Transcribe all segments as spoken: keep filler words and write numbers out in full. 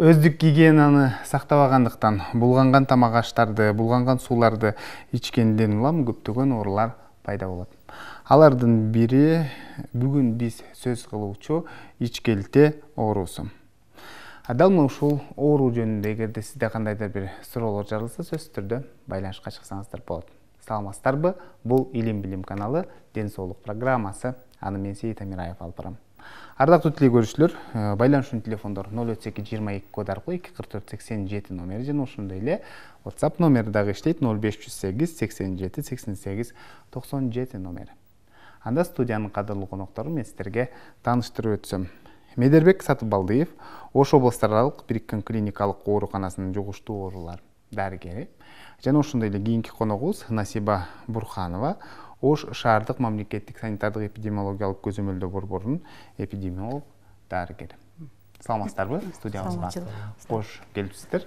Өздүк гигиенаны сактабагандыктан булганган тамак аштарды, булганган сууларды ичкенден улам көптөгөн оорулар пайда болот. Алардын бири бүгүн биз сөз кылуучу ичкелте оорусу. Дал мына ушул оору жөнүндө эгерде сизде кандайдыр бир суроолор жаралса, сөзсүз түрдө байланышка чыксаңыздар болот. Саламатсыздарбы? Бул Илим Билим каналы, Ден соолук программасы. Аны мен Сейит Амираев алып барам. Ардактуу теле көрүүчүлөр, байланышчу телефондор ноль отуз эки жыйырма эки код аркылуу эки кырк төрт сексен жети номери жана ошондой эле WhatsApp номери дагы иштейт ноль беш жүз сегиз сексен жети сексен сегиз токсон жети номери. Анда студиянын кадырлуу коноктору мен сиздерге тааныштырып өтсөм. Медербек Сатыбалдыев, Ош облустар аралык бириккен клиникалык ооруканасынын жугуштуу оорулар дарыгери жана ошондой эле кийинки коногубуз Насиба Бурханова, Ош шаардык мамлекеттик санитардык эпидемиологиялык көзөмөлдөө борборунун эпидемиолог дарыгери. Саламатсыздарбы? Студиябызга кош келипсиздер.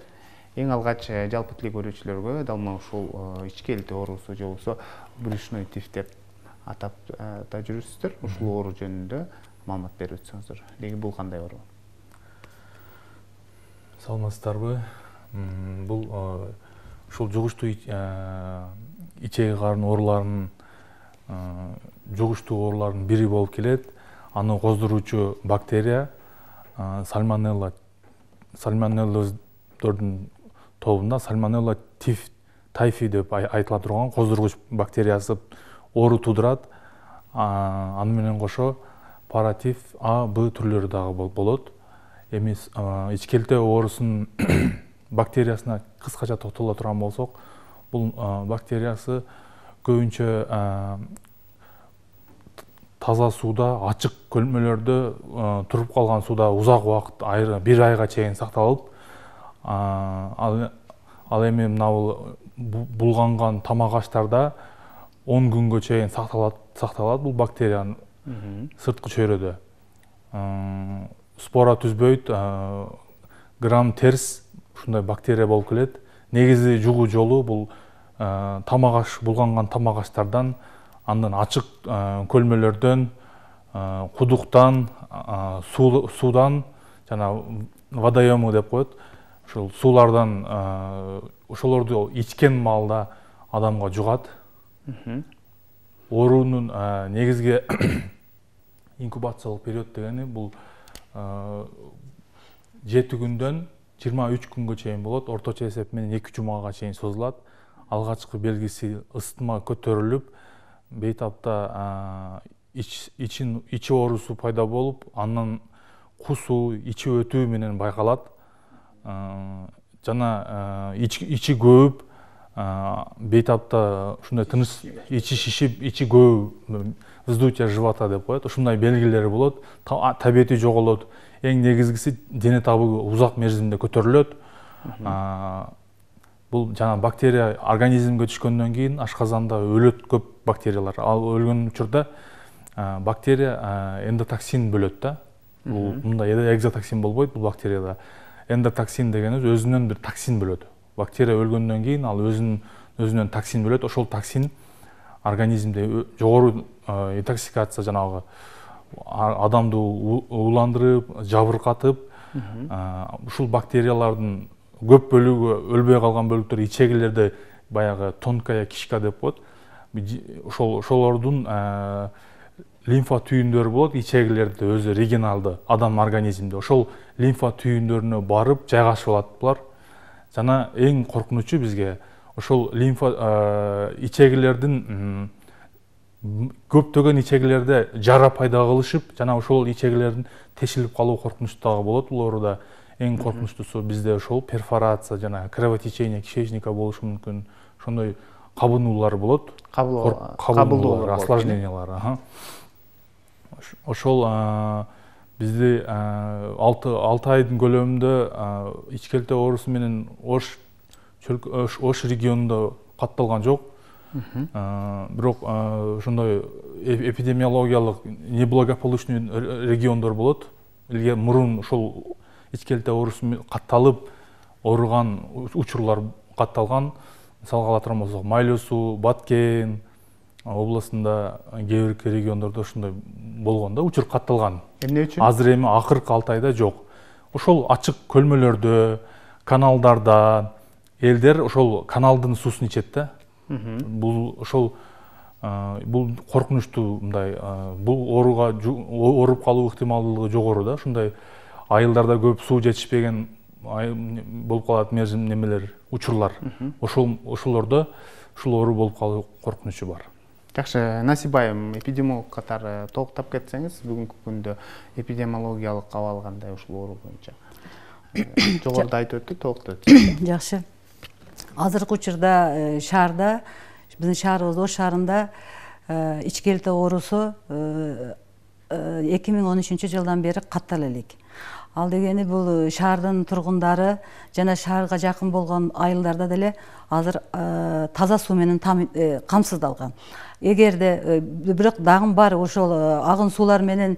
Эң алгач жалпы теле көрүүчүлөргө дал мына ушул ичкелте оорусу же болбосо брюшной тиф деп атап да жүрүсүздөр. Ушул оору жөнүндө маалымат берип өтсөңүздөр. Деги бул кандай оору? Саламатсыздарбы? Бул ушул жугуштуу ичеги карын ооруларынын жугуштуу оорулардын бири болуп келет. Аны коздуруучу бактерия сальмонелла сальмонеллоздордун тобунда сальмонелла тиф тайфи деп айтыла турган коздургуч бактериясы оору туудурат. Аны менен кошо паратиф А, Б түрлөрү дагы болот. Эми ичкелте оорусунун бактериясына кыскача токтоло турган болсок, бул бактериясы көбүнчө таза сууда, ачык көлмөлөрдө туруп калган сууда узак убакыт, бир айга чейин сакталып, ал эми мына булганган тамак аштарда он күнгө чейин сакталат, сакталат бул бактериянын сырткы чөйрөдө. Спора түзбөйт, грамм терс ушундай бактерия болуп келет. Негизи жугуу жолу бул тамак аш, булганган тамак аштардан, андан ачык көлмөлөрдөн, кудуктан, суудан жана водоёмы деп коет. Ушул суулардан ошолорду ичкен маалда адамга жугат. Оорунун негизги инкубациялык период дегени бул жети күндөн жыйырма үч күнгө чейин болот. Орточо эсеп менен эки жумага чейин созулат. Алгачкы белгиси ысытма көтөрүлүп, бейтапта ичи оорусу пайда болуп, андан кусуу, ичи өтүү менен байкалат. Жана ичи көбүп, бейтапта ушундай тыныч ичи шишип, ичи көбүп, вздутие живота деп коет. Ушундай белгилери болот. Табети жоголот. Эң негизгиси дене табы узак мерзимде көтөрүлөт. Бул жана бактерия организмге түшкөндөн кийин ашказанда өлөт көп бактериялар. Ал өлгөн учурда бактерия эндотоксин бөлөт да. Бул мындай экзотоксин болбойт бул бактерияда. Эндотоксин дегенибиз өзүнөн бир токсин бөлөт. Бактерия өлгөндөн кийин ал өзүнүн өзүнөн токсин бөлөт. Ошол токсин организмде жогору интоксикация, жанагы адамды ууландырып, жабыркатып, ушул бактериялардын көп бөлүгү, өлбөй калган бөлүктөр ичегилерде баягы тонкая кишка деп коет. Ошол ошолордун лимфа түйүндөрү болот, ичегилерде өзү регионалды адам организминде. Ошол лимфа түйүндөрүнө барып жайгашып алат булар. Жана эң коркунучу бизге ошол лимфа ичегилердин көптөгөн ичегилерде жара пайда кылышып, жана ошол ичегилердин тешилип калуу коркунучу дагы болот. Бул ооруда эң коркунучтуусу бизде ошол перфорация жана кровотечение кишечника болушу мүмкүн. Ошондой кабынуулар болот. Кабылуулар, осложнениялар. Ошол бизди алты айдын көлөмүндө ичкелте оорусу менен Ош Ош регионунда катталган жок. Бирок ошондой эпидемиологиялык неблагополучный региондор болот. Элге мурун ошол ичкелте оорусу катталып ооруган учурлар катталган. Мисалга ала турган болсок, Майлуу суу, Баткен областында кээ бир региондордо ушундай болгон да, учур катталган. Эмне үчүн? Азыр эми акыркы алты айда жок. ошол ачык көлмөлөрдө, каналдарда элдер ошол каналдын суусун ичет да. Бул ошол бул коркунучтуу, мындай бул ооруга ооруп калуу ыктымалдуулугу жогору да. Ушундай айылдарда көп суу жетишпеген болуп калат мерзим немелер, учурлар. Ошол ошолордо ушул оору болуп калуу коркунучу бар. Жакшы, Насип айым, эпидемиолог катары толуктап кетсеңиз, бүгүнкү күндө эпидемиологиялык абал кандай ушул оору боюнча? Жогоруда айтып өттү, толуктап өтсөңүз. Жакшы. Азыркы учурда шаарда, биздин шаарыбыз Ош шаарында ички элте оорусу эки миң он үчүнчү жылдан бери каттала элек. Ал дегени бул шаардын тургундары жана шаарга жакын болгон айылдарда деле азыр таза суу менен камсыздалган. Эгерде бирок дагы бар ошол агын суулар менен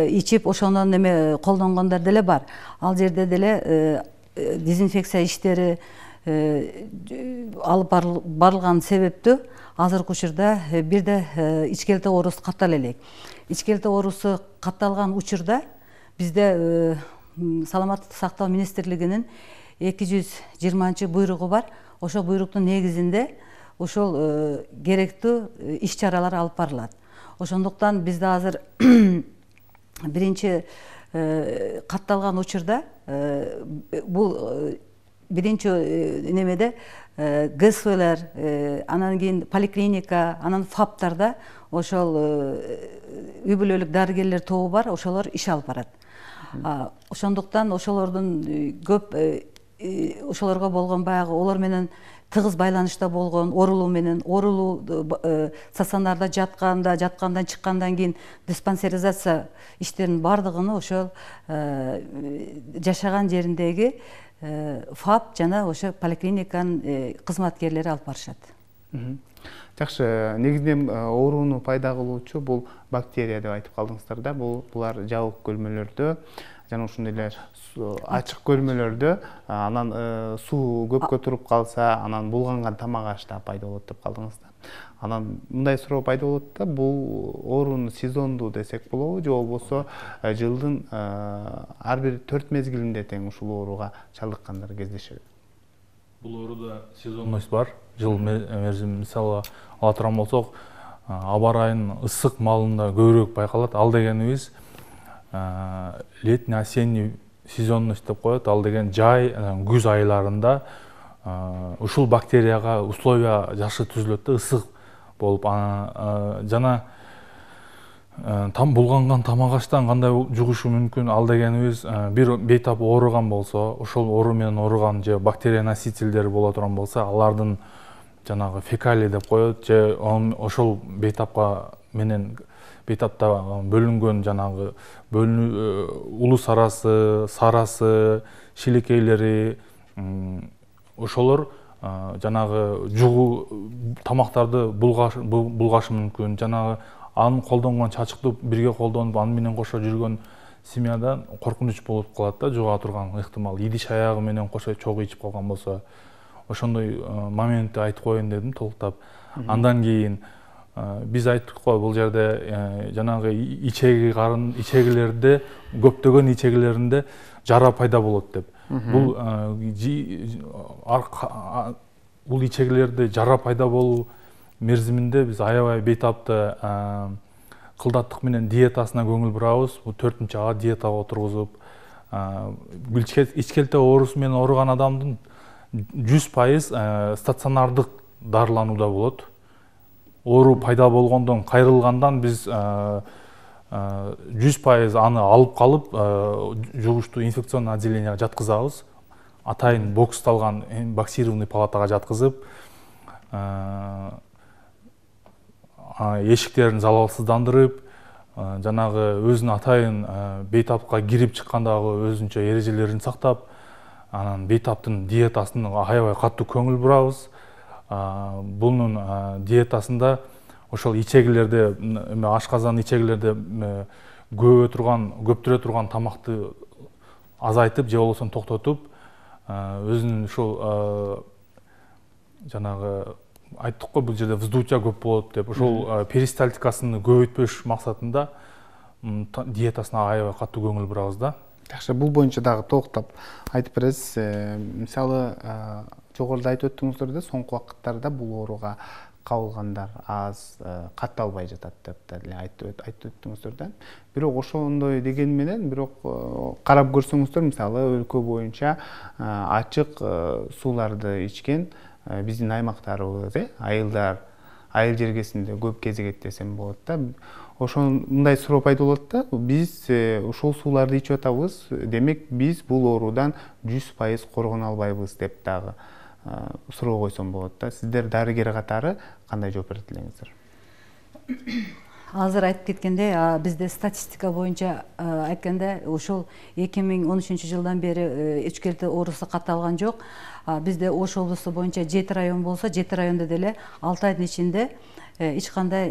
ичип ошондон неме колдонгондор деле бар. Ал жерде деле дезинфекция иштери алып барылган себептүү азыркы учурда бирде ички элте оорусу каттала элек. Ички элте оорусу катталган учурда бизде саламаттык сактоо министрлигинин эки жүз жыйырманчы буйругу бар. Ошол буйруктун негизинде ошол керектүү иш чаралар алып барылат. Ошондуктан бизде азыр биринчи катталган учурда бул биринчи немеде ГСВлер, анан кийин поликлиника, анан ФАПтарда ошол үй бүлөлүк дарыгерлер тобу бар, ошолор иш алып барат. Ошондуктан ошолордун көп ошолорго болгон баягы олор менен тыгыз байланышта болгон, оорулуу менен, оорулуу стационарда жатканда, жаткандан чыккандан кийин диспансеризация иштеринин бардыгын ошол жашаган жериндеги ФАП жана ошо поликлиниканын кызматкерлери алып барышат. Жакшы, негизинен ооруну пайда кылуучу бул бактерия деп айтып калдыңыздар да. Бул булар жабык көлмөлөрдө жана ошондой эле ачык көлмөлөрдө, анан суу көпкө туруп калса, анан булганган тамак ашта пайда болот деп калдыңыз да. Анан мындай суроо пайда болот да, бул оорунун сезондуу десек болобу, же болбосо жылдын ар бир төрт мезгилинде тең ушул ооруга чалдыккандар кездешеби? Бул ооруда сезонность бар. Жыл мерзим мисалы ала турган болсок, аба ырайынын ысык маалында көбүрөөк байкалат. Ал дегенибиз летний осенний сезонность деп коет. Ал деген жай, күз айларында ушул бактерияга условия жакшы түзүлөт да, ысык болуп, жана там булганган тамак аштан кандай жугушу мүмкүн? Ал дегенибиз бир бейтап ооруган болсо, ошол оору менен ооруган же бактерия носительдери боло турган болсо, алардын жанагы фекалий деп коет, же ошол бейтапка менен бейтапта бөлүнгөн жанагы бөлүнүү улус арасы, сарасы, шилекейлери, ошолор жанагы жугуу тамактарды булгашы мүмкүн. Жанагы анын колдонгон чачыктуу бирге колдонуп, аны менен кошо жүргөн семьядан коркунуч болуп калат да, жуга турган ыктымал. Идиш аягы менен кошо чогуу ичип калган болсо, ошондой моментти айтып коеюн дедим толуктап. Андан кийин биз айттык го, бул жерде жанагы ичеги карын ичегилерде, көптөгөн ичегилеринде жара пайда болот деп. Бул бул ичегилерде жара пайда болуу мерзиминде биз аябай бейтапты кылдаттык менен диетасына көңүл бурабыз. Бул төртүнчү А диетага отургузуп, ички элте оорусу менен ооруган адамдын жүз пайыз стационардык дарыланууда болот. Оору пайда болгондон кайрылгандан биз жүз пайыз аны алып калып жугуштуу инфекционный отделенияга жаткызабыз. Атайын боксталган боксированный палатага жаткызып, эшиктерин залалсыздандырып, жанагы өзүнүн атайын бейтапка кирип чыккандагы өзүнчө эрежелерин сактап, анан бейтаптын диетасын аябай катуу көңүл бурабыз. Бунун диетасында ошол ичегилерде, ашказан ичегилерде көбө турган, көптүрө турган тамакты азайтып же болбосо токтотуп, өзүнүн ушул жанагы айттык го, бул жерде вздутие көп болот деп, ошол перистальтикасын көбөйтпөш максатында диетасына аябай катуу көңүл бурабыз да. Жакшы, бул боюнча дагы токтоп айтып бересиз. Мисалы, жогоруда айтып өттүңүздөр да, соңку убакыттарда бул ооруга кабылгандар аз, катталбай жатат деп деле айтып өттүңүздөр да. Бирок ошондой деген менен, бирок карап көрсөңүздөр, мисалы өлкө боюнча ачык сууларды ичкен биздин аймактарыбыз, айылдар, айыл жергесинде көп кезигет десем болот да. Ошондой суроо пайда болот да. Биз ушул сууларды ичип атабыз, демек биз бул оорудан жүз пайыз коргоно албайбыз деп дагы суроо койсом болот да. Сиздер дарыгер катары кандай жооп берет элеңиздер? Азыр айтып кеткендей, бизде статистика боюнча айтканда ушул эки миң он үчүнчү жылдан бери ичкерте оорусу катталган жок. Бизде Ош облусу боюнча жети район болсо, жети райондо деле алты айдын ичинде эч кандай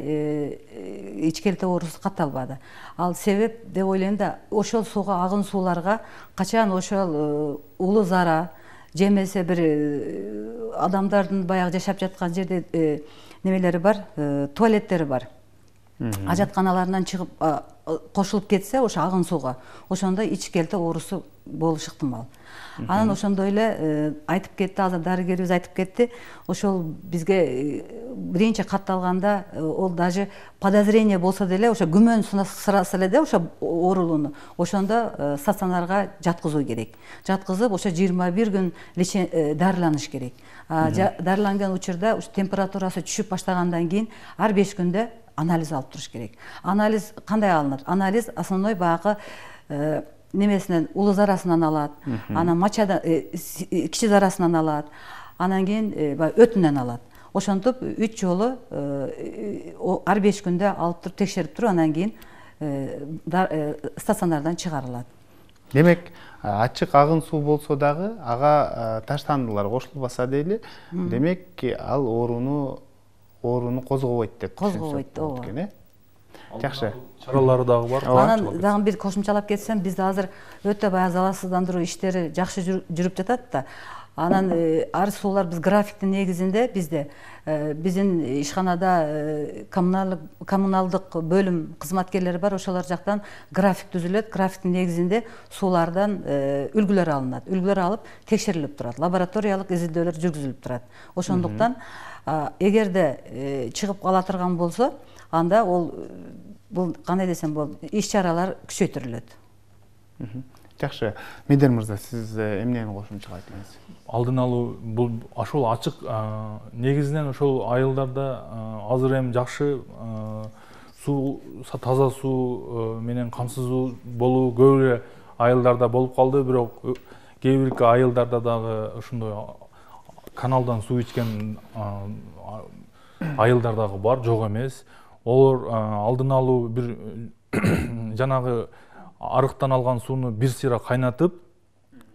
ичкерте оорусу катталбады. Ал себеп деп ойлойм да, ошол сууга, агын сууларга качан ошол улуу зара же эмесе бир адамдардын баягы жашап жаткан жерде немелери бар, туалеттери бар. Ажатканаларынан чыгып кошулуп кетсе ошо агын сууга, ошондо ичкерте оорусу болуш ыктымал. Анан ошондой эле айтып кетти, азыр дарыгерибиз айтып кетти, ошол бизге биринчи катталганда ол даже подозрение болсо деле, ошо күмөн сырасы эле да ошо оорулууну, ошондо стационарга жаткызуу керек. Жаткызып, ошо жыйырма бир күн дарыланыш керек. Дарыланган учурда температурасы түшүп баштагандан кийин ар беш күндө анализ алып туруш керек. Анализ кандай алынат? Анализ основной баягы немесинен, улуу зарасынан алат, анан мачадан, кичи зарасынан алат, анан кийин өтүнөн алат. Ошентип үч жолу ар беш күндө алып туруп текшерип туруп, анан кийин стационардан чыгарылат. Демек, ачык агын суу болсо дагы ага таштандылар кошулбаса дейли, демек ал ооруну ооруну козгобойт деп козгобойт, ооба. Жакшы. Чаралары дагы бар. Анан дагы бир кошумчалап кетсем, бизде азыр өтө баягы залалсыздандыруу иштери жакшы жүрүп жатат да. Анан ар суулар биз графиктин негизинде бизде биздин ишканада коммуналдык бөлүм кызматкерлери бар, ошолор жактан график түзүлөт. Графиктин негизинде суулардан үлгүлөр алынат. Үлгүлөр алып текшерилип турат. Лабораториялык изилдөөлөр жүргүзүлүп турат. Ошондуктан эгерде чыгып кала турган болсо, анда ол бул кандай десем болот, иш-чаралар күчөйтүрүлөт. Жакшы. Медер мырза, сиз эмнени кошумчалайт элеңиз? Алдын алуу бул ошол ачык негизинен ошол айылдарда азыр эми жакшы суу, таза суу менен камсыздуу болуу көп эле айылдарда болуп калды, бирок кээ бир айылдарда дагы ошондой каналдан суу ичкен айылдар дагы бар, жок эмес. Олар алдын алуу бир жанагы арыктан алган сууну бир сыйра кайнатып,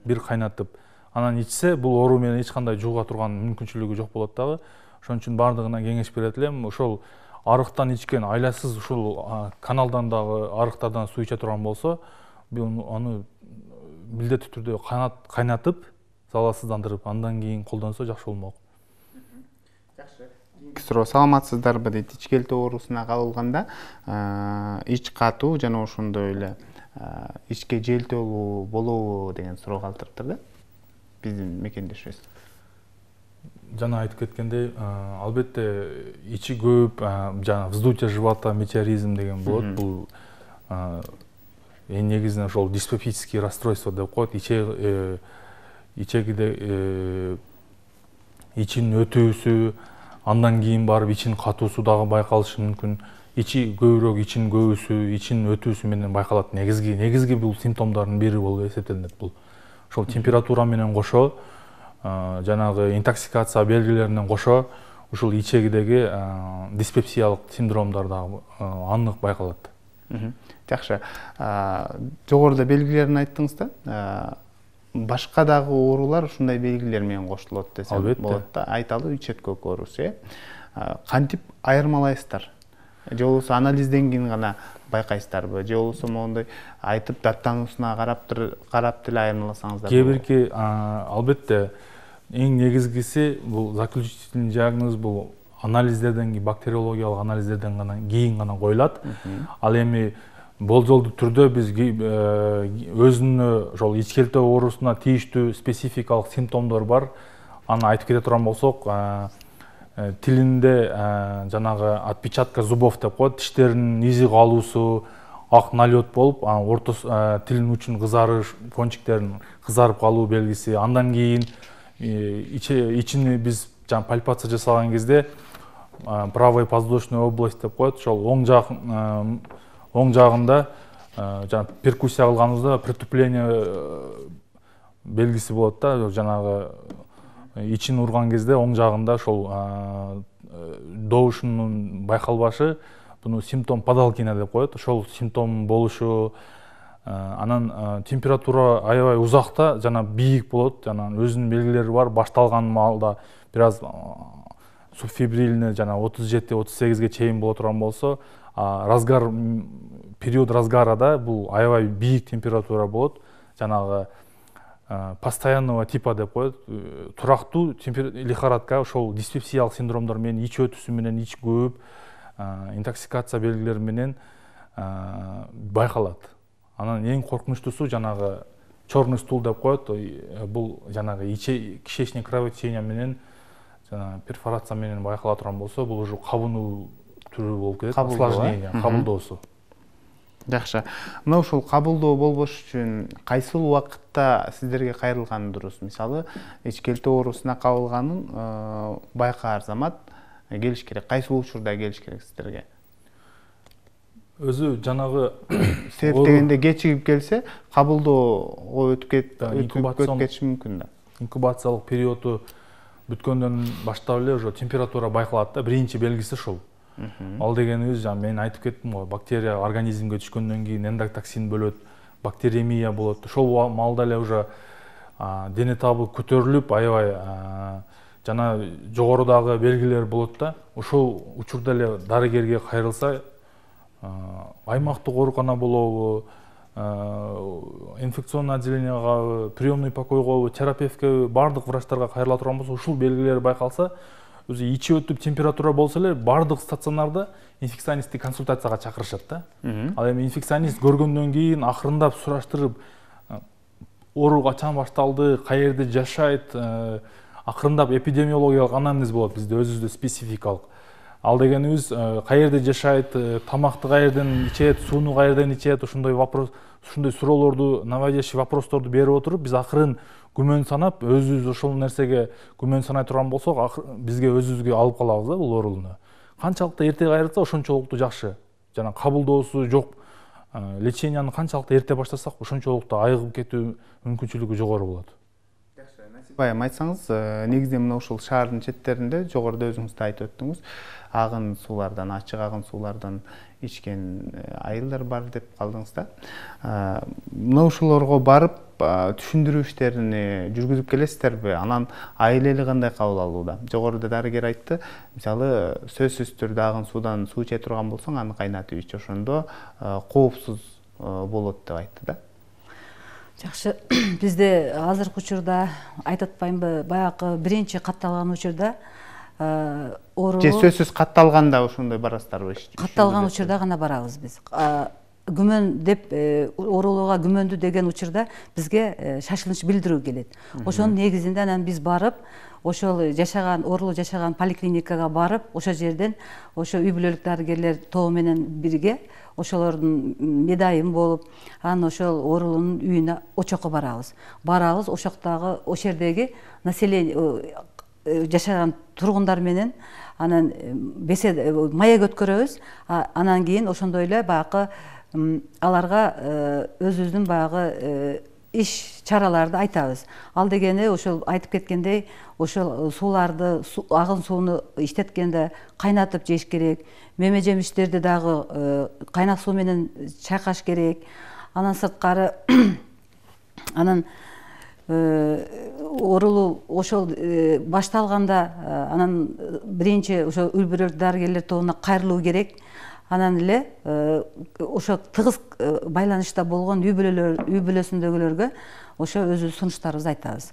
бир кайнатып, анан ичсе, бул оору менен эч кандай жууга турган мүмкүнчүлүгү жок болот дагы. Ошон үчүн бардыгына кеңеш берет элем. Ошол арыктан ичкен, айласыз ушул каналдан дагы арыктардан суу иче турган болсо, аны милдеттүү түрдө кайнатып, залалсыздандырып, андан кийин колдонсо жакшы болмок. Суроо, саламатсыздарбы дейт. Ичкерте оорусуна кабылганда ич катуу жана ошондой эле ичке желтөлүү болобу деген суроо калтырыптыр да биздин мекендешибиз. Жана айтып кеткендей, албетте ичи көп, жана вздутие живота, метеоризм деген болот. Бул эң негизинен ошол диспепсический расстройство деп коет. Иче ичегиде ичинин өтүүсү, андан кийин барып ичин катуусу дагы байкалышы мүмкүн. Ичи көбүрөөк, ичинин көбүсү, ичинин өтүүсү менен байкалат. Негизги негизги бул симптомдордун бири болуп эсептелинет бул. Ошол температура менен кошо, жанагы интоксикация белгилерине кошо, ушул ичегидеги диспепсиялык синдромдор дагы анык байкалат. Жакшы. Жогоруда белгилерин айттыңыз да. Башка дагы оорулар ушундай белгилер менен кошулот десем болот да. Айталы үч өткөк оорусу. Кантип айырмалайсыздар? Же болбосо анализден кийин гана байкайсыздарбы? Же болбосо моундай айтып даттануусуна карап деле айырмаласаңыздар? Кээ бирки албетте эң негизгиси бул заключительный диагноз бул анализдерден кийин, бактериологиялык анализдерден гана кийин гана коюлат. Ал эми болжолдуу түрдө биз өзүнө ошол ичкелтөө оорусуна тийиштүү спецификалык симптомдор бар. Аны айтып кете турган болсок, тилинде жанагы отпечатка зубов деп коет, тиштеринин изи калуусу, ак налет болуп, анан ортосу тилинин уучунун кызарыш, кончиктеринин кызарып калуу белгиси. Андан кийин ичини биз жана пальпация жасаган кезде правый подвздошный область деп коет, ошол оң жак оң жагында жана перкуссия кылганыбызда притупление белгиси болот да, жанагы ичин урган кезде оң жагында ошол добушунун байкалбашы, буну симптом подалкина деп коет. Ошол симптом болушу, анан температура аябай узакта жана бийик болот, жана өзүнүн белгилери бар. Башталган маалда бир аз субфибрильный жана отуз жети отуз сегизге чейин боло турган болсо, разгар период разгарада бул аябай бийик температура болот, жанагы постоянного типа деп коет, турактуу лихорадка, ошол диспепсиялык синдромдор менен, ич өтүсү менен, ич көп, интоксикация белгилери менен байкалат. Анан эң коркунучтуусу жанагы черный стул деп коет, бул жанагы кишечный кровотечение менен, жана перфорация менен байкала турган болсо, бул уже кабынуу түрү болуп кетет, осложнение, кабылдоосу. Жакшы. Мына ушул кабылдоо болбош үчүн кайсыл убакытта сиздерге кайрылган дурус? Мисалы, ичкелтөө оорусуна кабылганын байкаар замат келиш керек. Кайсыл учурда келиш керек сиздерге? Өзү жанагы себеп дегенде кечигип келсе, кабылдоого өтүп кетиши мүмкүн да. Инкубациялык периоду бүткөндөн баштап эле уже температура байкалат да, биринчи белгиси ушул. Ал дегенибиз, жана мен айтып кеттим го, бактерия организмге түшкөндөн кийин эндотоксин бөлөт, бактериемия болот. Ошол маалда эле уже дене табы көтөрүлүп, аябай жана жогорудагы белгилер болот да. Ошол учурда эле дарыгерге кайрылса, аймактык оорукана болобу, инфекционный отделенияга, приемный покойго, терапевтке, бардык врачтарга кайрыла турган болсо, ушул белгилер байкалса, өзү ичи өтүп температура болсо эле бардык стационарда инфекционисттик консультацияга чакырышат да. Ал эми инфекционист көргөндөн кийин акырындап сураштырып, оору качан башталды, каерде жашайт, акырындап эпидемиологиялык анамнез болот бизде өзүбүздө спецификалык. Ал дегенибиз, каерде жашайт, тамакты каерден ичет, сууну каерден ичет, ошондой вопрос, ушундай суроолорду, наводящий вопросторду берип отуруп, биз акырын күмөн санап, өзүбүз ошол нерсеге күмөн санай турган болсок, бизге өзүбүзгө алып калабыз да бул оорууну. Канчалыкты эрте кайрылса, ошончолукту жакшы. Жана кабылдоосу жок, леченияны канчалыкты эрте баштасак, ошончолукту айыгып кетүү мүмкүнчүлүгү жогору болот. Жакшы, Насип айым, айтсаңыз, негизинен мына ушул шаардын четтеринде, жогоруда өзүңүз да айтып өттүңүз, агын суулардан, ачык агын суулардан ичкен айылдар бар деп калдыңыз да. Мына ушулорго барып түшүндүрүү иштерин жүргүзүп келесиздерби? Анан айыл эли кандай кабыл алууда? Жогоруда дарыгер айтты, мисалы, сөзсүз түрдө агын суудан суу иче турган болсоң, аны кайнатып ич, ошондо коопсуз болот деп айтты да. Жакшы, бизде азыркы учурда айтып атпаймынбы, баягы биринчи катталган учурда оору же сөзсүз катталганда ошондой барасыздарбы? Катталган учурда гана барабыз биз. Күмөн деп, оорулууга күмөндү деген учурда бизге шашылыш билдирүү келет. Ошонун негизинде анан биз барып, ошол жашаган, оорулуу жашаган поликлиникага барып, ошол жерден ошо үй бүлөлүк дарыгерлер тобу менен бирге ошолордун медайым болуп, анан ошол оорулуунун үйүнө очокко барабыз. Барабыз, ошоктогу, ошол жердеги население жашаган тургундар менен анан бесед маек өткөрөбүз. Анан кийин ошондой эле баягы аларга өзүбүздүн баягы иш чараларды айтабыз. Ал дегени ошол айтып кеткендей, ошол сууларды, агын сууну иштеткенде кайнатып жеш керек, меме жемиштерди дагы кайнак суу менен чайкаш керек. Анан сырткары анан оорулуу ошол башталганда анан биринчи ошо үй бүлөлүк дарыгерлер тобуна кайрылуу керек. Анан эле ошо тыгыз байланышта болгон үй бүлөлөр, үй бүлөсүндөгүлөргө ошо өзүбүз сунуштарыбызды айтабыз.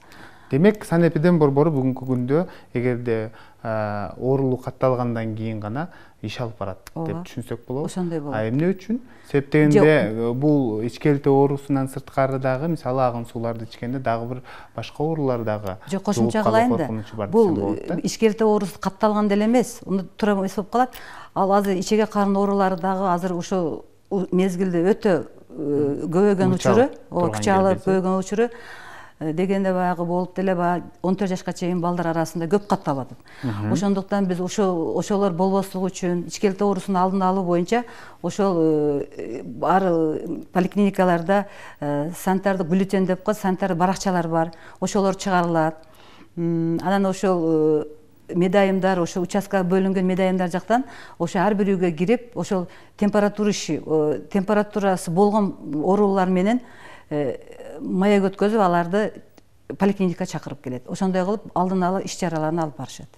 Демек, санэпидем борбору бүгүнкү күндө эгерде оорулуу катталгандан кийин гана иш алып барат деп түшүнсөк болобу? Ошондой болот. А эмне үчүн? Себеп дегенде бул ичкелте оорусунан сырткары дагы мисалы агын сууларды ичкенде дагы бир башка оорулар дагы жок, кошумча кылайын да. Бул ичкелте оорусу катталган деле эмес. Уну туура эмес болуп калат. Ал азыр ичеге карын оорулары дагы азыр ошол мезгилде өтө көбөйгөн учуру, күч алып көбөйгөн учуру дегенде баягы болуп деле баягы он төрт жашка чейин балдар арасында көп катталып атат. Ошондуктан биз ошол ошолор болбослугу үчүн ичкелте оорусунун алдын алуу боюнча ошол ар поликлиникаларда санитардык бюллетень деп коет, санитар баракчалар бар. Ошолор чыгарылат. Анан ошол медайымдар, ошо участкага бөлүнгөн медайымдар жактан ошо ар бир үйгө кирип, ошол температурасы температурасы болгон оорулар менен маек өткөзүп, аларды поликлиникага чакырып келет. Ошондой кылып алдын ала иш чараларын алып барышат.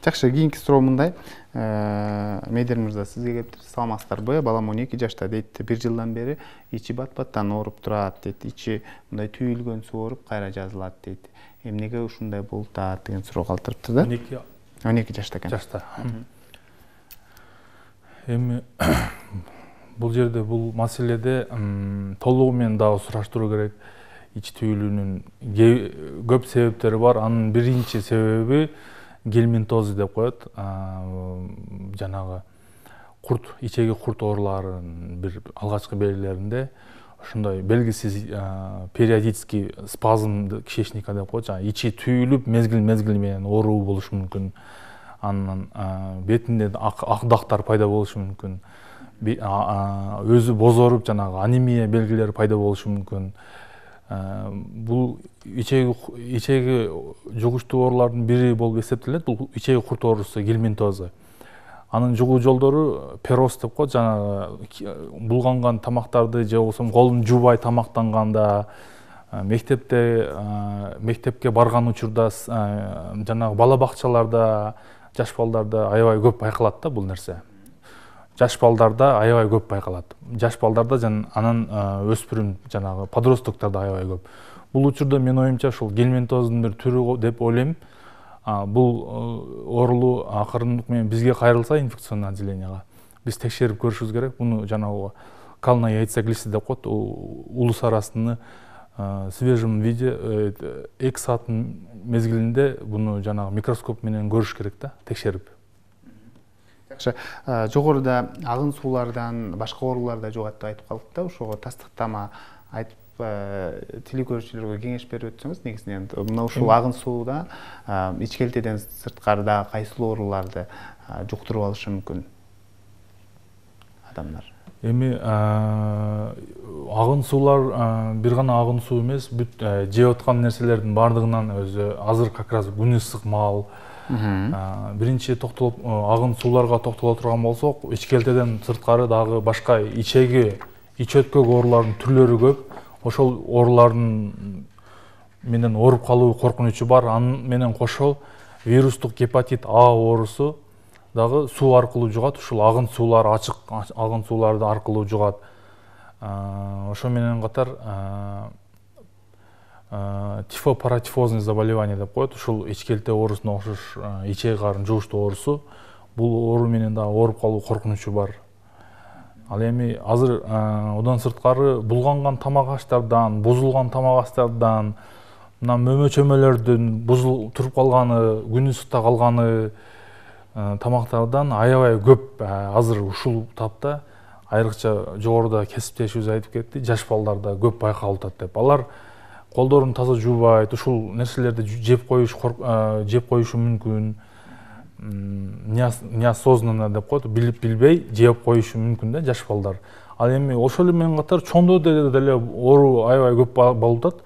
Жакшы, кийинки суроо мындай. Медер мырза, сизге кеп саламатсыздарбы? Балам он эки жашта дейт, бир жылдан бери ичи бат-баттан ооруп турат дейт. Ичи мындай түйүлгөн суу ооруп кайра жазылат дейт. Эмнеге ушундай болуп атат деген суроо калтырыптыр да? он эки жашта экен. Жашта. Эми бул жерде бул маселеде толугу менен дагы сураштыруу керек. Ич түйүлүүнүн көп себептери бар. Анын биринчи себеби гельминтоз деп коет. Жанагы курт, ичеги курт ооруларынын бир алгачкы белгилеринде ошондой белгисиз периодический спазм кишечника деп коет. Жана ичи түйүлүп, мезгил-мезгил менен ооруу болушу мүмкүн. Анан бетинде ак дактар пайда болушу мүмкүн. Өзү бозоруп, жанагы анемия белгилери пайда болушу мүмкүн. Бул ичеги ичеги жугуштуу оорулардын бири болуп эсептелет. Бул ичеги курт оорусу гельминтозу. Анын жугуу жолдору пероз деп коет. Жана булганган тамактарды же болбосо колун жуубай тамактанганда, мектепте мектепке барган учурда, жанагы бала бакчаларда, жаш балдарда аябай көп байкалат да бул нерсе. Жаш балдарда аябай көп байкалат. Жаш балдарда жана анан өспүрүм жанагы подростоктарда аябай көп. Бул учурда мен оюмча ушул гельминтоздун бир түрү деп ойлойм. Бул оорулуу акырындык менен бизге кайрылса инфекционный отделенияга биз текшерип көрүшүбүз керек. Буну жанагы калная яйцеглиста деп коет. Улус арасында свежем виде эки сааттын мезгилинде буну жанагы микроскоп менен көрүш керек да, текшерип. Жакшы, жогоруда агын суулардан башка оорулар да жугат деп айтып калдык да, ошого тастыктама айтып тили көрүүчүлөргө кеңеш берип өтсөңүз, негизинен мына ушул агын сууда ичкелтеден сырткарыда кайсыл ооруларды жуктуруп алышы мүмкүн адамдар? Эми агын суулар бир гана агын суу эмес, бүт жеп аткан нерселердин баардыгынан өзү азыр как раз күн ысык маал. Биринчи токтолуп агын сууларга токтоло турган болсок, ичкелтеден сырткары дагы башка ичеги, ич өткөк оорулардын түрлөрү көп. Ошол оорулардын менен ооруп калуу коркунучу бар. Анын менен кошо вирустук гепатит А оорусу дагы суу аркылуу жугат. Ушул агын суулар, ачык агын сууларды аркылуу жугат. Ошо менен катар тифопаратифозный заболевание деп коет. Ушул ичкелте оорусуна окшош ичеги карын жугуштуу оорусу. Бул оору менен дагы ооруп калуу коркунучу бар. Ал эми азыр одан сырткары булганган тамак аштардан, бузулган тамак аштардан, мына мөмө чөмөлөрдүн бузул туруп калганы, күн ысыкта калганы тамактардан аябай көп азыр ушул тапта, айрыкча жогоруда кесиптешибиз айтып кетти, жаш балдарда көп байкалып атат деп. Алар колдорун таза жуубайт, ушул нерселерди жеп коюш жеп коюшу мүмкүн. Неосознанно деп коет, билип билбей жеп коюшу мүмкүн да жаш балдар. Ал эми ошол менен катар чоңдо деле оору аябай көп болуп атат.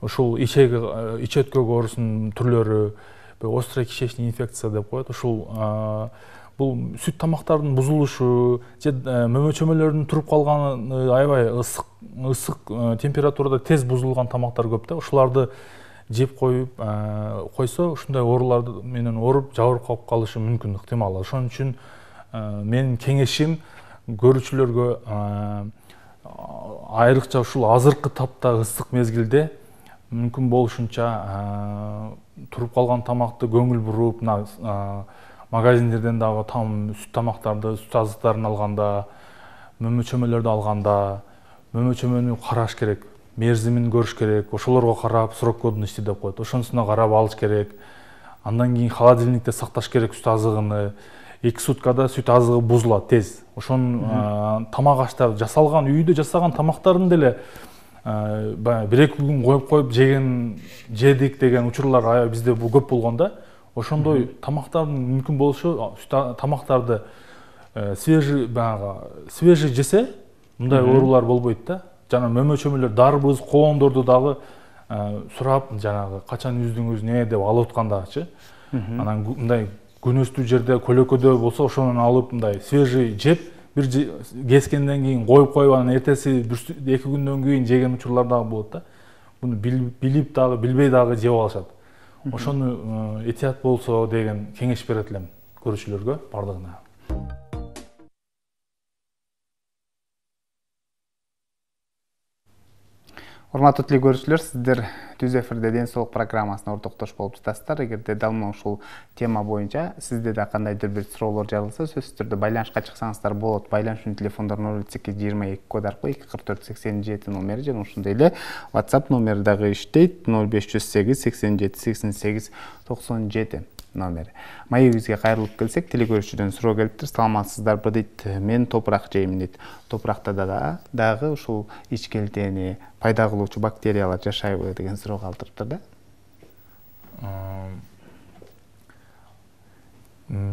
Ушул ичеги ич өткөк оорусунун түрлөрү, острая кишечная инфекция деп коет. Ушул бул сүт тамактардын бузулушу, же мөмө чөмөлөрдүн туруп калганы, аябай ысык ысык температурада тез бузулган тамактар көп да. Ушуларды жеп коюп койсо, ушундай оорулар менен ооруп жабыркап калышы мүмкүн, ыктымал. Ошон үчүн менин кеңешим көрүүчүлөргө айрыкча ушул азыркы тапта ысык мезгилде мүмкүн болушунча туруп калган тамакты көңүл буруп, магазиндерден дагы там сүт тамактарды, сүт азыктарын алганда, мөмө чөмөлөрдү алганда, мөмө чөмөнү караш керек, мерзимин көрүш керек, ошолорго карап срок годности деп коет. Ошонусуна карап алыш керек. Андан кийин холодильникте сакташ керек сүт азыгын. эки суткада сүт азыгы бузулат тез. Ошон тамак аштар жасалган, үйдө жасаган тамактарын деле бир эки күн коюп коюп жеген жедик деген учурлар бизде бул көп болгон да. Ошондой тамактардын мүмкүн болушу тамактарды свежий баягы свежий жесе мындай оорулар болбойт да. Жана мөмө чөмөлөр, дарбыз, коондорду дагы сурап жанагы качан үздүңүз не деп алып аткандачы. Анан мындай күнөстүү жерде көлөкөдө болсо ошону алып мындай свежий жеп, бир кескенден кийин коюп коюп анан эртеси эки күндөн кийин жеген учурлар дагы болот да. Буну билип дагы, билбей дагы жеп алышат. Ошону этият болсо деген кеңеш берет элем көрүүчүлөргө бардыгына. Урматтуу теле көрүүчүлөр, сиздер Түз эфирде ден соолук программасына ортоктош болуп жатасыздар. Эгерде дал мына ушул тема боюнча сизде да кандайдыр бир суроолор жаралса, сөзсүз түрдө байланышка чыксаңыздар болот. Байланышчу телефондор ноль үч сегиз жыйырма эки код аркылуу эки кырк төрт сексен жети номери жана ошондой эле WhatsApp номери дагы иштейт. ноль беш жүз сегиз сексен жети сексен сегиз токсон жети номери. Маегибизге кайрылып келсек, теле көрүүчүдөн суроо келиптир. Саламатсыздарбы дейт. Мен топурак жейм дейт. Топуракта да дагы ушул ичкелтени пайда кылуучу бактериялар жашайбы деген суроо калтырыптыр да.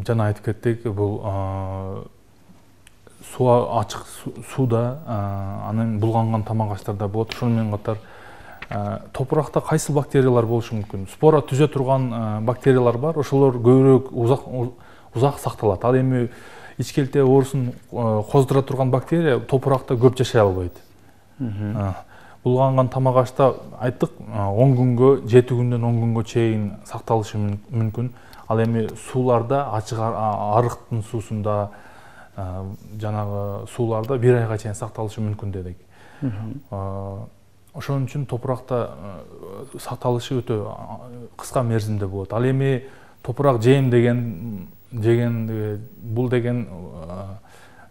Жана айтып кеттик, бул суу ачык сууда анан булганган тамак аштарда болот. Ошону менен катар топуракта кайсы бактериялар болушу мүмкүн? Спора түзө турган бактериялар бар, ошолор көбүрөөк узак узак сакталат. Ал эми ичкелте оорусун коздура турган бактерия топуракта көп жашай албайт. Булганган тамак ашта айттык, он күнгө, жети күндөн он күнгө чейин сакталышы мүмкүн. Ал эми сууларда, ачык арыктын суусунда, жанагы сууларда бир айга чейин сакталышы мүмкүн дедик. Ошон үчүн топуракта сакталышы өтө кыска мерзимде болот. Ал эми топурак жейм деген жеген бул деген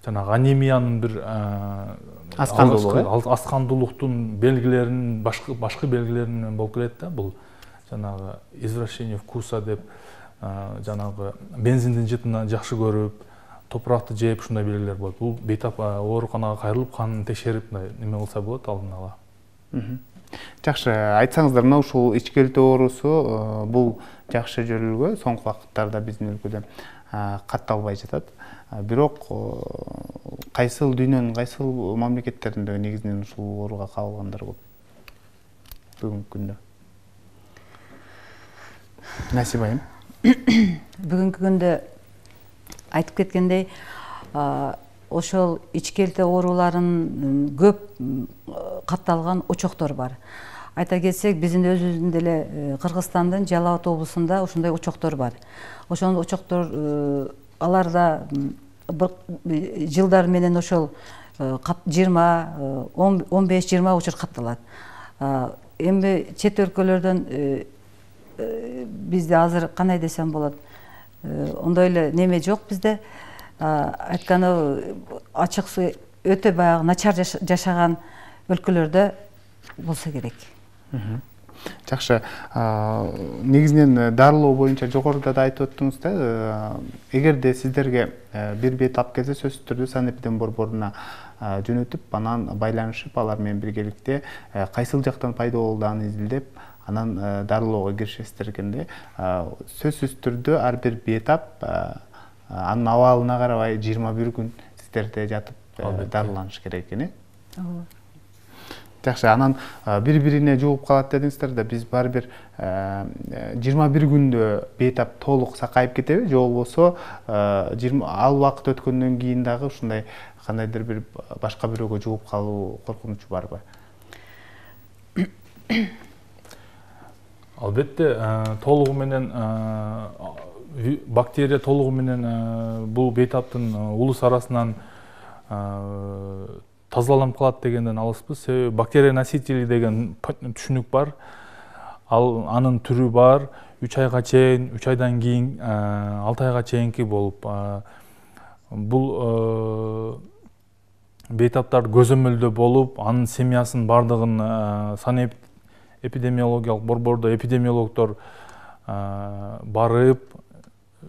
жанагы анемиянын бир аскандуулуктун белгилерин башкы башкы белгилерин менен болуп келет да. Бул жанагы извращение вкуса деп жанагы бензиндин жытынан жакшы көрүп, топуракты жеп ушундай белгилер болот. Бул бейтап ооруканага кайрылып, канын текшерип неме кылса болот алдын ала. Жакшы, айтсаңыздар, мына ушул ичкелте оорусу бул жакшы жөрүлгө соңку вакыттарда биздин өлкөдө катталбай жатат. Бирок кайсыл дүйнөнүн кайсыл мамлекеттеринде негизинен ушул ооруга кабылгандар көп бүгүнкү күндө? Насиба айым. Бүгүнкү күндө айтып кеткендей, ошол ичкелте ооруларын көп катталган очоктор бар. Айта кетсек, биздин өзүбүздүн деле Кыргызстандын Жалал Абад облусунда ошондой очоктор бар. Ошол очоктор аларда жылдар менен ошол жыйырма, он беш жыйырма учур катталат. Эми чет өлкөлөрдөн бизде азыр кандай десем болот, ондой эле неме жок бизде. Айтканы ачык суу өтө баягы начар жашаган өлкөлөрдө болсо керек. Жакшы, негизинен дарылоо боюнча жогоруда да айтып өттүңүз да, эгерде сиздерге бир бейтап келсе, сөзсүз түрдө санэпидем борборуна жөнөтүп, анан байланышып, алар менен биргеликте кайсыл жактан пайда болду аны изилдеп, анан дарылоого киришесиздер экенде. Сөзсүз түрдө ар бир бейтап анын абалына карабай жыйырма бир күн сиздерде жатып дарыланыш керек экен. Жакшы, анан бири-бирине жугуп калат дедиңиздер да, биз баары бир жыйырма бир күндө бейтап толук сакайып кетеби, же болбосо ал убакыт өткөндөн кийин дагы ушундай кандайдыр бир башка бирөөгө жугуп калуу коркунучу барбы? Албетте, толугу менен бактерия толугу менен бул бейтаптын улус арасынан тазаланып калат дегенден алыспыз. Себеби бактерия носители деген түшүнүк бар. Ал анын түрү бар. үч айга чейин, үч айдан кийин алты айга чейинки болуп, бул бейтаптар көзөмөлдө болуп, анын семьясынын бардыгын санап эпидемиологиялык борбордо эпидемиологдор барып,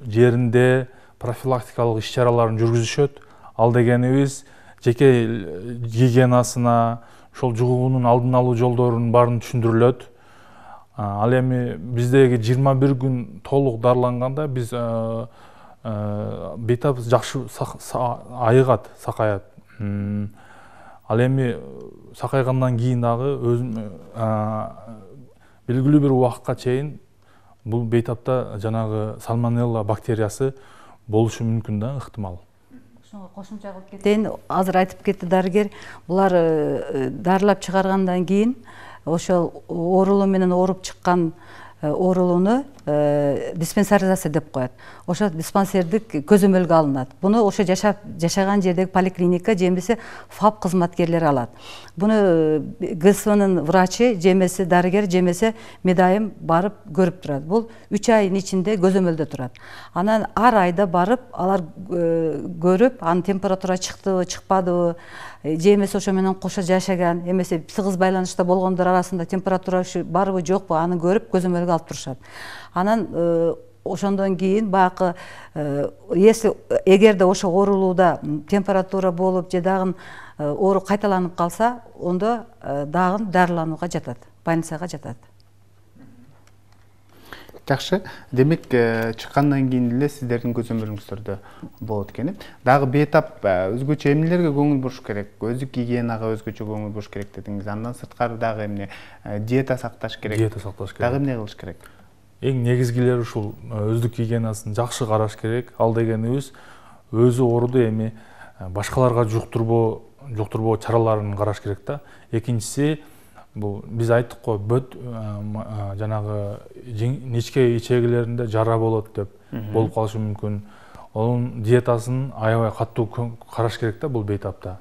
жеринде профилактикалык иш-чараларын жүргүзүшөт. Ал дегенибиз жеке гигиенасына, ошол жугуунун алдын алуу жолдорунун баарын түшүндүрүлөт. Ал эми биздеги жыйырма бир күн толук дарыланганда биз бейтап жакшы айыгат, сакаят. Ал эми сакайгандан кийин дагы белгилүү бир убакытка чейин бул бейтапта жанагы сальмонелла бактериясы болушу мүмкүн да, ыктымал. Ошого кошумча кылып кетейин. Азыр айтып кетти дарыгер, булар дарылап чыгаргандан кийин ошол оорулуу менен ооруп чыккан оорулууну диспансеризация деп коет. Ошо диспансердик көзөмөлгө алынат. Буну ошо жашап жашаган жердеги поликлиника же эмесе ФАП кызматкерлери алат. Буну ГСВнын врачы же эмесе дарыгер же эмесе медайым барып көрүп турат. Бул үч айдын ичинде көзөмөлдө турат. Анан ар айда барып алар көрүп, анын температура чыктыбы, чыкпадыбы, же эмесе ошо менен кошо жашаган, эмесе тыгыз байланышта болгондор арасында температура барбы жокпу, аны көрүп көзөмөлгө алып турушат. Анан ошондон кийин баягы если эгерде ошо оорулууда температура болуп же дагы оору кайталанып калса, ондо дагы дарыланууга жатат, больницага жатат. Жакшы. Демек, чыккандан кийин эле сиздердин көзөмөлүңүздөрдө болот экен. Дагы бейтап өзгөчө эмнелерге көңүл буруш керек? Өздүк гигиенага өзгөчө көңүл буруш керек дедиңиз. Андан сырткары дагы эмне? Диета сакташ керек. Диета сакташ керек. Дагы эмне кылыш керек? Эң негизгилери ушул өздүк гигиенасын жакшы караш керек. Ал дегенибиз өзү ооруду эми башкаларга жуктурбоо жуктурбоо чараларын караш керек да. Экинчиси, бул биз айттык го, бөт жанагы нечке ичегилеринде жара болот деп болуп калышы мүмкүн. Онун диетасын аябай катуу караш керек да бул бейтапта.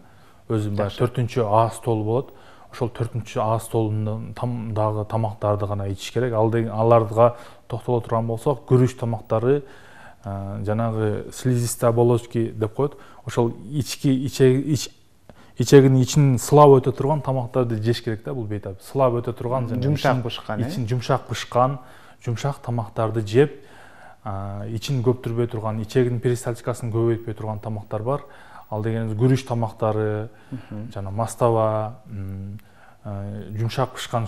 Өзү баягы төртүнчү А столу болот. Ошол төртүнчү А столунун дагы тамактарды гана ичиш керек. Аларга токтоло турган болсок, күрүч тамактары, жанагы слизистые оболочки деп коет. Ошол ички ичегинин ичин сылап өтө турган тамактарды жеш керек да бул бейтап. Сылап өтө турган, жумшак бышкан, ичин жумшак бышкан, жумшак тамактарды жеп, ичин көптүрбөй турган, ичегинин перистальтикасын көбөйтпөй турган тамактар бар. Ал дегенибиз күрүч тамактары, жана мастава, жумшак бышкан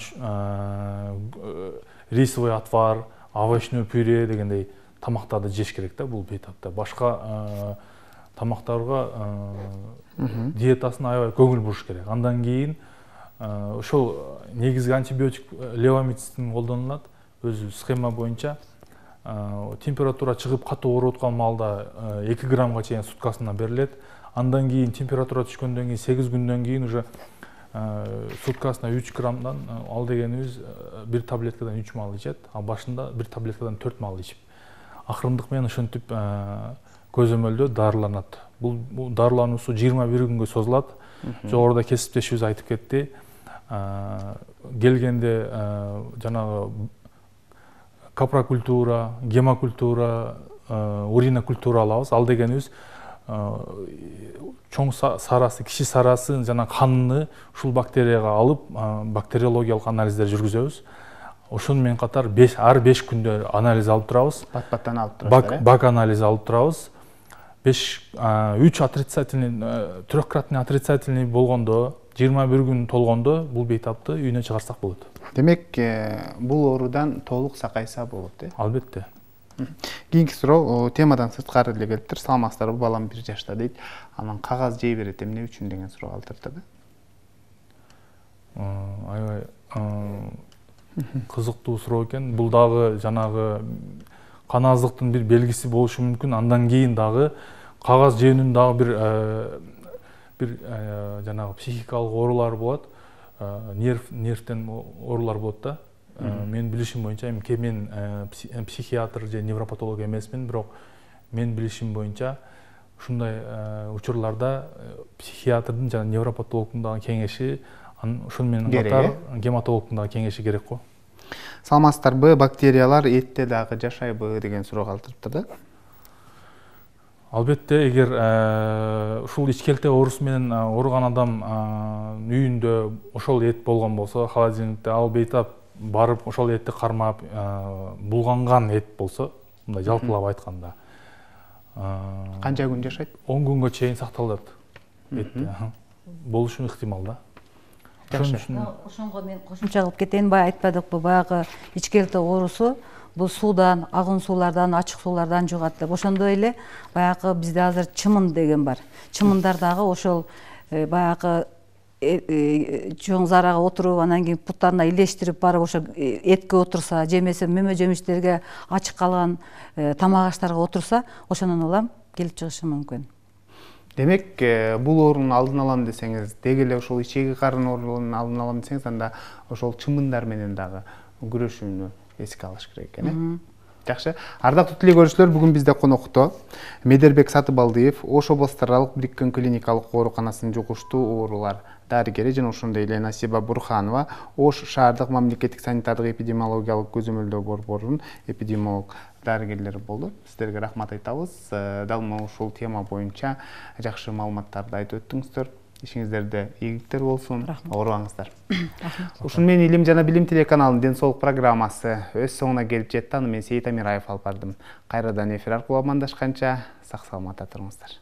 рисовый отвар, овощной пюре дегендей тамактарды жеш керек да бул бейтапта. Башка тамактарга диетасын аябай көңүл буруш керек. Андан кийин ошол негизги антибиотик левомицин колдонулат. Өзү схема боюнча температура чыгып катуу ооруп аткан маалда эки граммга чейин суткасына берилет. Андан кийин температура түшкөндөн кийин сегиз күндөн кийин уже суткасына үч граммдан, ал дегенибиз бир таблеткадан үч маал ичет, а башында бир таблеткадан төрт маал ичип. Акырындык менен ошентип көзөмөлдө дарыланат. Бул дарылануусу жыйырма бир күнгө созулат. Жогоруда кесиптешибиз айтып кетти. Келгенде жанагы капрокультура, гемокультура, уринокультура алабыз. Ал дегенибиз чоң сарасы, кичи сарасын жана каныны ушул бактерияга алып, бактериологиялык анализдер жүргүзөбүз. Ошону менен катар ар беш күндө анализ алып турабыз. Бат-баттан алып турабыз. Бак анализ алып турабыз. үч отрицательный, трехкратный отрицательный болгондо, жыйырма бир күн толгондо бул бейтапты үйүнө чыгарсак болот. Демек, бул оорудан толук сакайса болот, э? Албетте. Кийинки суроо темадан сырткары эле келиптир. Саламатсыздарбы, балам бир жашта дейт. Анан кагаз жей берет, эмне үчүн деген суроо калтырды. Аябай кызыктуу суроо экен. Бул дагы жанагы кан аздыктын бир белгиси болушу мүмкүн. Андан кийин дагы кагаз жеүүнүн дагы бир бир жанагы психикалык оорулар болот. Нерв нервтен оорулар болот да. Мен билишим боюнча, эми мен психиатр же невропатолог эмесмин, бирок мен билишим боюнча ушундай учурларда психиатрдын жана невропатологдун дагы кеңеши, ошону менен катар гематологдун дагы кеңеши керек го. саламатсыздарбы, бактериялар этте дагы жашайбы деген суроо калтырыптыр да. Албетте, эгер ушул ичкелте оорусу менен ооруган адам үйүндө ошол эт болгон болсо, холодильникте ал бейтап барып ошол этти кармап, булганган эт болсо, мындай жалпылап айтканда, канча күн жашайт? он күнгө чейин сакталат этте. Болушу ыктымал да. Ошонго мен кошумча кылып кетейин, баягы айтпадыкпы, баягы ичкелте оорусу бул суудан, агын суулардан, ачык суулардан жугат деп. Ошондой эле баягы бизде азыр чымын деген бар. Чымындар дагы ошол баягы чоң зарага отуруп, анан кийин буттарына илештирип барып ошо этке отурса, жемесе мөмө жемиштерге, ачык калган тамак аштарга отурса, ошондон улам келип чыгышы мүмкүн. Демек, бул оорунун алдын алам десеңиз, деги эле ошол ичеги карын оорунун алдын алам десеңиз, анда ошол чымындар менен дагы күрөшүүнү эске алыш керек экен, э? Жакшы. Ардактуу тилек көрүүчүлөр, бүгүн бизде конокто Медербек Сатыбалдиев, Ош областаралык бириккен клиникалык ооруканасынын жугуштуу оорулар дарыгери жана ошондой эле Насиба Бурханова, Ош шаардык мамлекеттик санитардык эпидемиологиялык көзөмөлдөө борборунун эпидемиолог дарыгерлери болду. Сиздерге рахмат айтабыз. Дал ушул тема боюнча жакшы маалыматтарды айтып өттүңүздөр. Ишиңиздерде ийгиликтер болсун. Оорубаңыздар. Ушун менен Илим жана билим телеканалынын ден соолук программасы өз соңуна келип жетти. Аны мен Сейит Амираев алып бардым. Кайрадан эфир аркылуу амандашканча сак саламатта туруңуздар.